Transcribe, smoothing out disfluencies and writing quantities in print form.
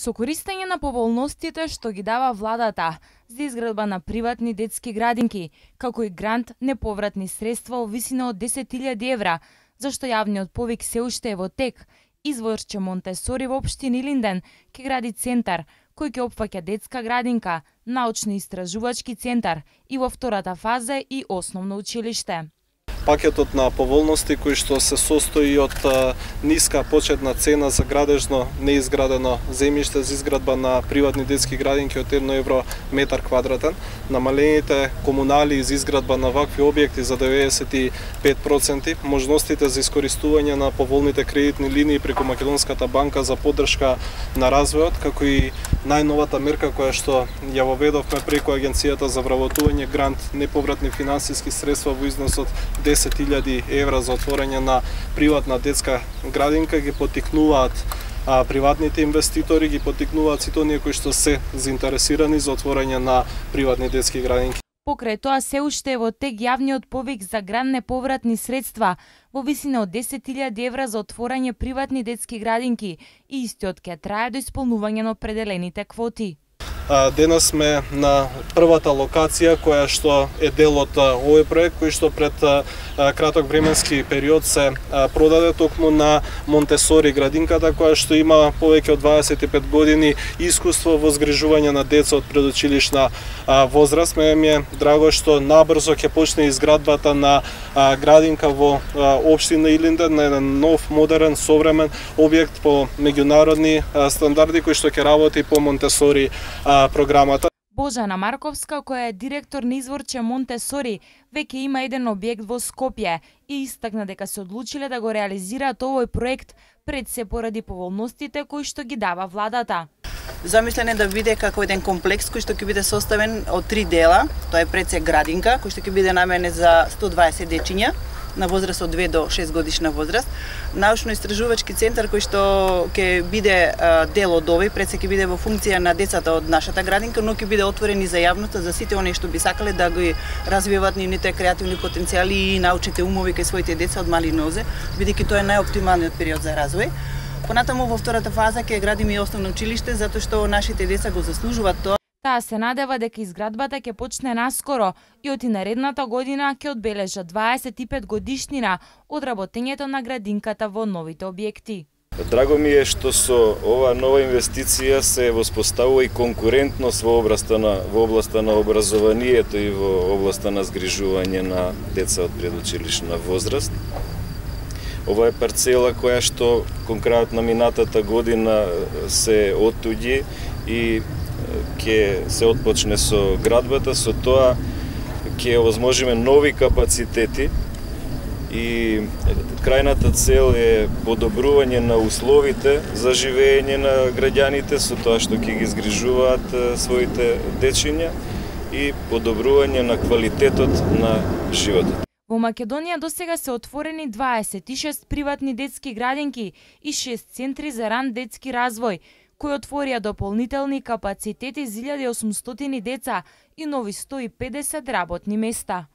Со користење на поволностите што ги дава владата за изградба на приватни детски градинки, како и грант неповратни средства во висина од 10.000 евра, зашто јавниот повик се уште е во тек, изворче Монтесори во општина Илинден ќе гради центар кој ќе опфаќа детска градинка, научно-истражувачки центар и во втората фаза и основно училиште. Пакетот на поволности кој што се состои од ниска почетна цена за градежно неизградено земјиште за изградба на приватни детски градинки од 1 евро метар квадратен, намалените комунали за изградба на вакви објекти за 95%, можностите за искористување на поволните кредитни линии преку Македонската банка за поддршка на развојот, како и најновата мерка која што ја воведовме преку Агенцијата за вработување грант неповратни финансиски средства во износ од 10.000 евра за отворање на приватна детска градинка ги поттикнуваат приватните инвеститори, ги поттикнуваат сите оние кои што се заинтересирани за отворање на приватни детски градинки. Покрај тоа се уште е во тек јавниот повик за грант неповратни средства во висина од 10.000 евра за отворање приватни детски градинки и истиот ќе трае до исполнување на определените квоти. Денес сме на првата локација која што е дел од овој проект кој што пред краток временски период се продаде токму на Монтесори градинката која што има повеќе од 25 години искуство во згрижување на деца од предучилишна возраст. Ми е драго што набрзо ќе почне изградбата на градинка во општина Илинден на еден нов, модерен, современ објект по меѓународни стандарди кој што ќе работи по Монтесори програмата. Божана Марковска, која е директор на изворче Монтесори, веќе има еден објект во Скопје и истакна дека се одлучиле да го реализираат овој проект пред се поради поволностите кои што ги дава владата. Замислен е да биде како еден комплекс кој што ќе биде составен од 3 дела. Тоа е пред се градинка кој што ќе биде наменет за 120 дечиња на возраст од 2 до 6 годишна возраст, научно-истражувачки центар кој што ќе биде дел од овој, пред се ќе биде во функција на децата од нашата градинка, но ќе биде отворен и за јавноста, за сите оние што би сакале да ги развиваат нивните креативни потенцијали и научните умови кај своите деца од мали нозе, бидејќи тоа е најоптималниот период за развој. Понатаму во втората фаза ќе градиме и основно училиште, затоа што нашите деца го заслужуваат тоа. Таа се надева дека изградбата ќе почне наскоро и од наредната година ќе одбележа 25 годишнина од работењето на градинката во новите објекти. Драго ми е што со ова нова инвестиција се воспоставува и конкурентност во областа на образованието и во областа на згрижување на деца од предучилишна возраст. Ова е парцела која што конкретно минатата година се оттуѓи и ќе се отпочне со градбата, со тоа ќе овозможиме нови капацитети и крајната цел е подобрување на условите за живење на граѓаните со тоа што ќе ги згрижуваат своите дечиња и подобрување на квалитетот на животот. Во Македонија досега се отворени 26 приватни детски градинки и 6 центри за ран детски развој, кои отворија дополнителни капацитети за 1800 деца и нови 150 работни места.